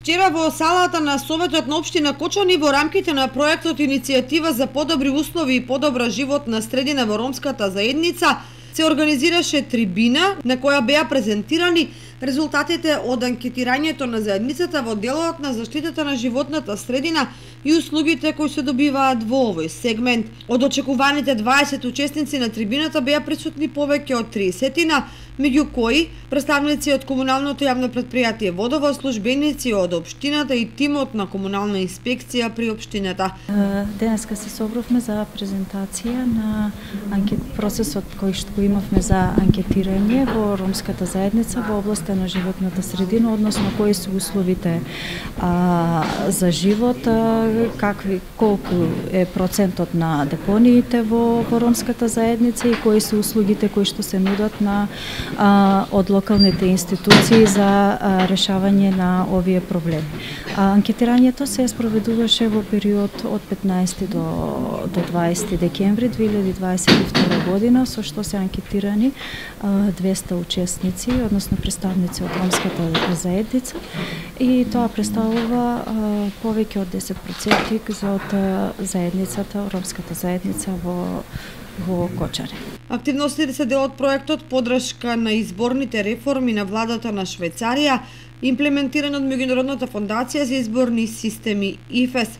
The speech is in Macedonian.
Вчера во салата на Советот на општина Кочани во рамките на проектот Иницијатива за подобри услови и подобра животна средина во ромската заедница се организираше трибина на која беа презентирани резултатите од анкетирањето на заедницата во делот на заштитата на животната средина и услугите кои се добиваат во овој сегмент. Од очекуваните 20 учесници на трибината беа присутни повеќе од 30-тина, меѓу кои представници од комуналното јавно предпријатие Водовод, службеници од општината и тимот на комунална инспекција при општината. Денеска се собравме за презентација на процесот кој што имавме за анкетирање во ромската заедница во областа на животната средина, односно кои се условите за живот, колку е процентот на депониите во ромската заедница и кои се услугите кои што се нудат на од локалните институции за решавање на овие проблеми. Анкетирањето се спроведуваше во период од 15 до 20 декември 2022 година, со што се анкетирани 200 учесници, односно представници од ромската заедница, и тоа представува повеќе од 10% од заедницата, ромската заедница во Кочани. Активностите се дел од проектот поддршка на изборните реформи на владата на Швајцарија, имплементиран од Меѓународната фондација за изборни системи ИФЕС.